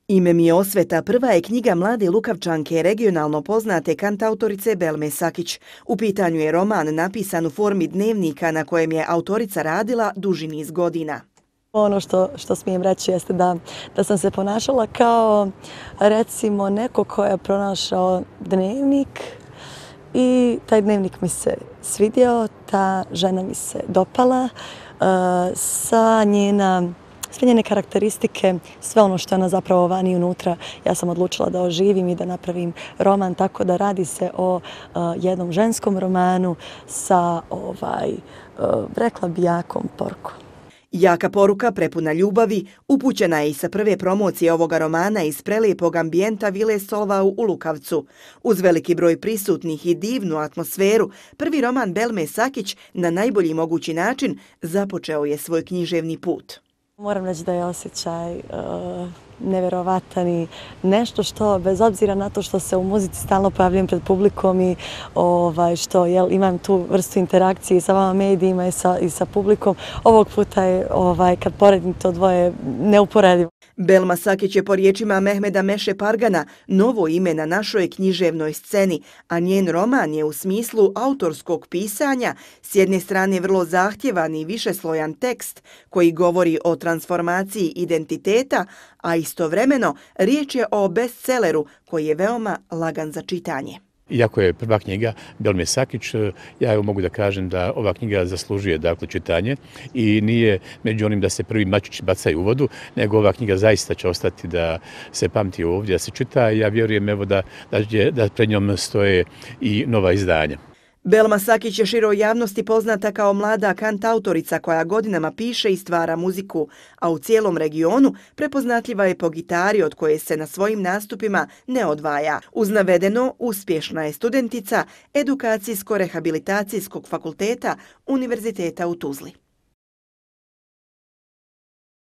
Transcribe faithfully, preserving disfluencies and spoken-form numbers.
Ime mi je Osveta prva je knjiga mlade Lukavčanke, regionalno poznate kantautorice Belme Sakić. U pitanju je roman napisan u formi dnevnika na kojem je autorica radila duži niz godina. Ono što, što smijem reći jeste da, da sam se ponašala kao recimo neko ko je pronašao dnevnik i taj dnevnik mi se svidio, ta žena mi se dopala, uh, sa njena sve njene karakteristike, sve ono što je ona zapravo vani unutra, ja sam odlučila da oživim i da napravim roman, tako da radi se o uh, jednom ženskom romanu sa, ovaj, uh, rekla bi, jakom porukom. Jaka poruka prepuna ljubavi upućena je i sa prve promocije ovoga romana iz prelijepog ambijenta Vile Solvau u Lukavcu. Uz veliki broj prisutnih i divnu atmosferu, prvi roman Belme Sakić na najbolji mogući način započeo je svoj književni put. Moram reći da je osjećaj uh, nevjerovatan i nešto što, bez obzira na to što se u muzici stalno pojavljam pred publikom i ovaj, što jel, imam tu vrstu interakcije sa vama medijima i sa, i sa publikom, ovog puta je, ovaj, kad poredim to dvoje, neuporedivo. Belma Sakić je po riječima Mehmeda Meše Pargana novo ime na našoj književnoj sceni, a njen roman je u smislu autorskog pisanja s jedne strane vrlo zahtjevan i višeslojan tekst koji govori o transformaciji identiteta, a istovremeno riječ je o bestselleru koji je veoma lagan za čitanje. Iako je prva knjiga Belme Sakić, ja evo mogu da kažem da ova knjiga zaslužuje dakle čitanje i nije među onim da se prvi mačići bacaju u vodu, nego ova knjiga zaista će ostati da se pamti ovdje, da se čita i ja vjerujem evo da, da, da pred njom stoje i nova izdanja. Belma Sakić je široj javnosti poznata kao mlada kantautorica koja godinama piše i stvara muziku, a u cijelom regionu prepoznatljiva je po gitari od koje se na svojim nastupima ne odvaja. Uz navedeno, uspješna je studentica Edukacijsko-rehabilitacijskog fakulteta Univerziteta u Tuzli.